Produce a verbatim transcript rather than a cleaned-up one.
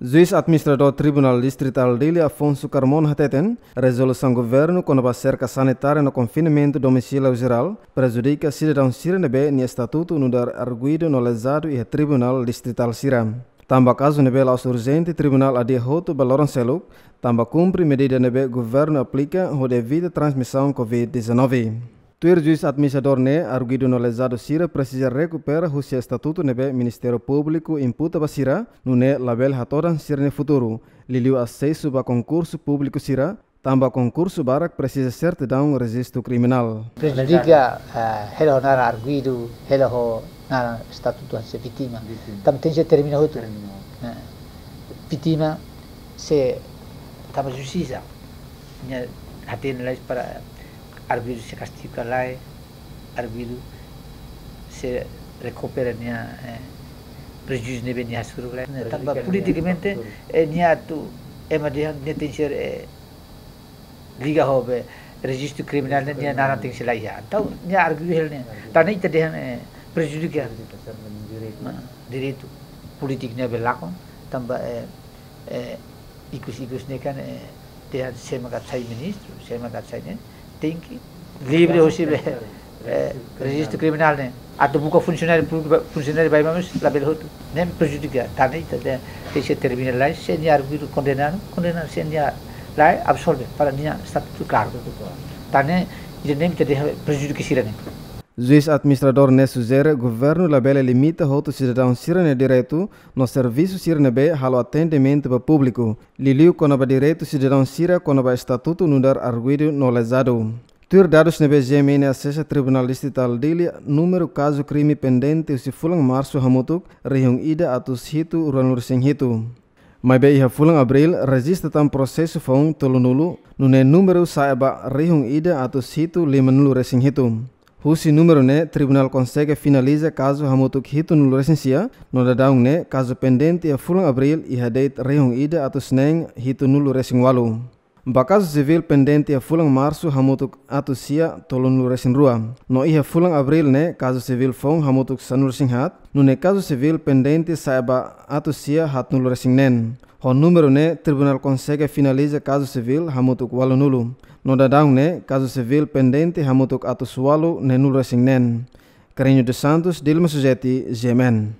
Juís Administradór Tribunál Distritál Dili, Afonso Carmona, hateten, rezolusaun governu kona-ba serka sanitária no konfinamentu domisíliu jerál prejudika sidadaun sira ne'ebé nia estatutu nu'udar arguidu no lezadu iha tribunál distritál sira. Tanba kazu ne'ebé la'ós urjente, tribunál adia hotu ba loron seluk, tanba kumpre medida ne'ebé governu aplika hodi evita transmisaun covid dezanove. Tuir juís administradór ne'e, arguidu no lezadu sira presiza rekupera husi estatutu ne'ebé Ministériu Públiku imputa ba sira, nune'e labele hatodan sira-nia futuru, liuliu asesu ba konkursu públiku sira, tanba konkursu barak presiza sertidaun rejistu kriminál. Prejudica, eh, hela ho naran arguidu, hela ho naran estatutu hanesan vítima. Vítima. Tanba tenke termina hotu. Termina. Eh, vítima sei tanba justisa. Nia hatene lai para arguidu sei kastigu ka lae, arguidu sei rekupera nia, eh, prejuízu ne'ebé nia hasoru ka lae. Tanba politikamente, eh, nia atu ema dehan nia tenke, eh, liga ho be rejistu kriminál ne'e nia naran tenke la iha. Entaun nia arguidu hela ne'e. Tan ne'e ita dehan, eh, prejudika. Prejudika, serta direitu. Nah, direitu polítiku ne'ebé lakon, tanba, eh, eh, ikus-ikus ne'e kan, eh, dehan sé mak atu sai ministru, sé mak atu sai ne'e, tenke livre hosi be, eh, rejistu kriminál ne'e. Atu buka funsionáriu públiku ba, funsionáriu ba ema mós labele hotu. Ne'e prejudika, tan ne'e ita dehan, tenke sei termina lai, se nia arguidu kondenadu, kondenadu, se nia lae, absolve, para nia estatutu klaru. Tan ne'e, ida-ne'e mak ita dehan prejudika sira-ne'e. Juís administradór ne'e sujere governu labele limita hotu sidadaun sira-nia direitu no servisu sira ne'ebé halo atendimentu ba públiku, liuliu kona-ba direitu sidadaun sira kona-ba estatutu nu'udar arguidu no lezadu. Tuir dadus ne'ebé G M N asesa, Tribunál Distritál Dili, númeru kazu krime pendente husi fulan Marsu hamutuk rihun ida atus hitu ruanulu resin hitu. Maibé iha fulan Abríl rejista tan prosesu foun tolunulu, nune'e númeru sa'e ba rihun ida atus hitu limanulu resin hitu. Husi númeru ne'e, tribunál konsege finaliza kazu hamutuk hitunulu resin sia, no daudaun ne'e kazu pendente iha fulan Abríl iha de'it rihun ida atus neen hitunulu resin ualu. Ba kazu sivíl pendente iha fulan Marsu hamutuk atus sia tolunulu resin rua. No iha fulan Abríl ne'e kazu sivíl foun hamutuk sanulu resin haat, nune'e kazu sivíl pendente sa'e ba atus sia haatnulu resin neen. Ho númeru ne'e, tribunál konsege finaliza kazu sivíl hamutuk ualunulu. No daudaun ne'e, kazu sivíl pendente hamutuk atus ualu neenulu resin neen. Carreño dos Santos, Dilma Sujeti, G M N.